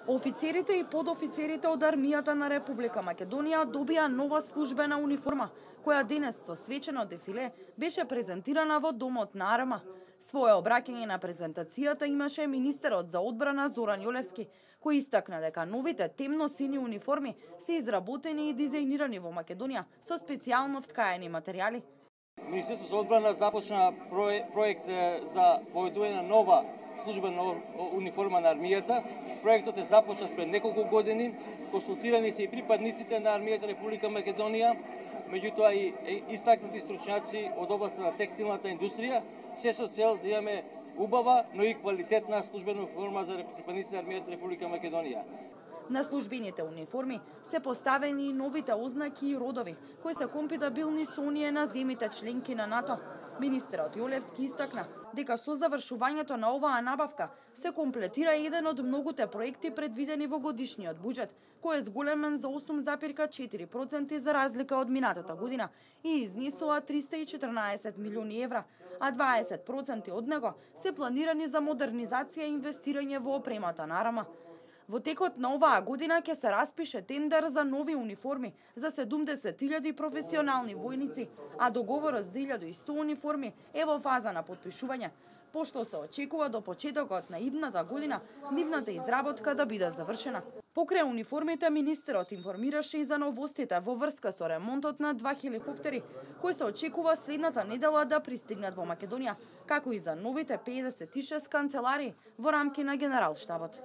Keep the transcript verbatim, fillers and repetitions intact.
Офицерите и подофицерите од армијата на Република Македонија добија нова службена униформа, која денес со свечено дефиле беше презентирана во Домот на ар ем а. Своје обраќање на презентацијата имаше министерот за одбрана Зоран Јолевски, кој истакна дека новите темно-сини униформи се изработени и дизајнирани во Македонија со специјално вткаени материјали. Министерството за одбрана започна проект за воедување на нова службена униформа на армијата. Проектот е започнат пред неколку години, консултирани се и припадниците на армијата Република Македонија, меѓутоа и истакнати стручњаци од областа на текстилната индустрија, се со цел да имаме убава, но и квалитетна службена униформа за припадниците на армијата Република Македонија. На службените униформи се поставени и новите ознаки и родови, кои се компатибилни со оние на земите членки на НАТО. Министерот Јолевски истакна дека со завршувањето на оваа набавка се комплетира еден од многуте проекти предвидени во годишниот буџет, кој е зголемен за осум запирка четири проценти за разлика од минатата година и изнесува триста и четрнаесет милиони евра, а дваесет проценти од него се планирани за модернизација и инвестирање во опремата на ар ем а. Во текот на оваа година ќе се распише тендер за нови униформи за седумдесет илјади професионални војници, а договорот за илјада и сто униформи е во фаза на потпишување, пошто се очекува до почетокот на идната година нивната изработка да биде завршена. Покрај униформите, министерот информираше и за новостите во врска со ремонтот на два хеликоптери, кои се очекува следната недела да пристигнат во Македонија, како и за новите педесет и шест канцелари во рамки на Генералштабот.